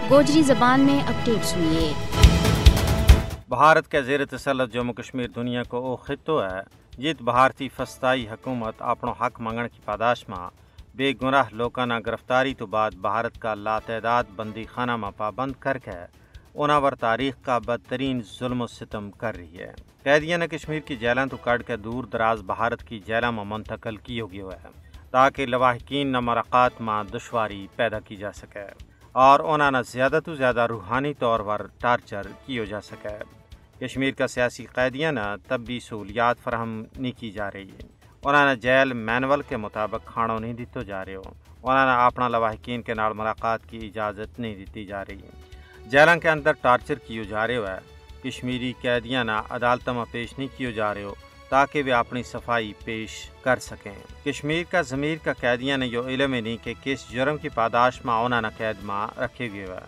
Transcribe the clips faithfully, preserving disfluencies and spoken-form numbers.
گوجری زبان میں اپڈیٹس ہوئی ہے۔ بھارت کے زیر تسلط جموں کشمیر دنیا کو او خطو ہے، جت بھارتی فستائی حکومت اپنو حق منگن کی پاداش ما بے گناہ لوکاں نا گرفتاری تو بعد بھارت کا لاتعداد بندی خانہ ما پابند کر کے انہاں ور تاریخ کا بدترین ظلم و ستم کر رہی ہے۔ قیدیاں نا کشمیر کی جیلاں تو کڑھ کے دور دراز بھارت کی جیلاں ما منتقل کیو گیو ہے، تاکہ لواحقین نا ملاقات ما دشواری پیدا کی جا سکے اور انہاں نا زیادہ تو زیادہ روحانی طور پر ٹارچر کیو جا سکے۔ کشمیر کا سیاسی قیدیاں نا طبی سہولیات فراہم نہیں کی جا رہی۔ انہاں نا جیل مینول کے مطابق کھانو نہیں دتو جا رہیو۔ انہاں نا اپنا لواحقین کے نال ملاقات کی اجازت نہیں دتی جا رہی۔ جیلاں کے اندر ٹارچر کیو جا رہیو ہے۔ کشمیری قیدیاں نا عدالتاں ما پیش نہیں کیو جا رہیو، تاکہ ویہ اپنی صفائی پیش کر سکیں۔ کشمیر کا ضمیر کا قیدیاں نا یوہ علم ہی نہیں کہ کس جرم کی پاداش ما انہاں نا قید ما رکھیو گیو ہے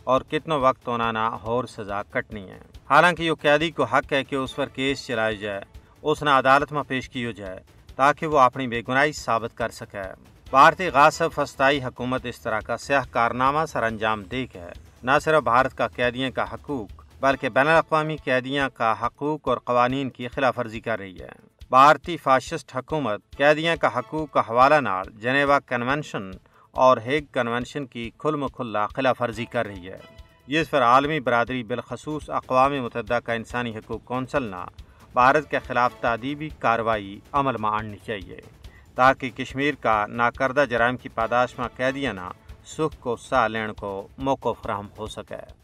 اور کتنو وقت انہاں نا ہور سزا کٹنی ہے۔ حالانکہ یوہ قیدی کو حق ہے کہ اس پر کیس چلایو جائے، اس نا عدالت ما پیش کیو جائے، تاکہ وہ اپنی بے گناہی ثابت کر سکے۔ بھارتی غاصب فستائی حکومت اس طرح کا سیاہ کارنامہ سر انجام دے کے نہ صرف بھارت کا قیدیاں کا حقوق بلکہ بین الاقوامی قیدیاں کا حقوق اور قوانین کی خلاف ورزی کر رہی ہے۔ بھارتی فاشسٹ حکومت قیدیاں کا حقوق کا حوالہ نال جنیوا کنونشن اور ہیگ کنونشن کی کھل مکھلا خلاف ورزی کر رہی ہے، جس پر عالمی برادری بالخصوص اقوام متحدہ کا انسانی حقوق کونسل نا بھارت کے خلاف تادیبی کارروائی عمل ما آننی چاہیے، تاکہ کشمیر کا ناکردہ جرائم کی پاداش ما قیدیاں نا سکھ کو ساہ لین کو موقع فراہم ہو سکے۔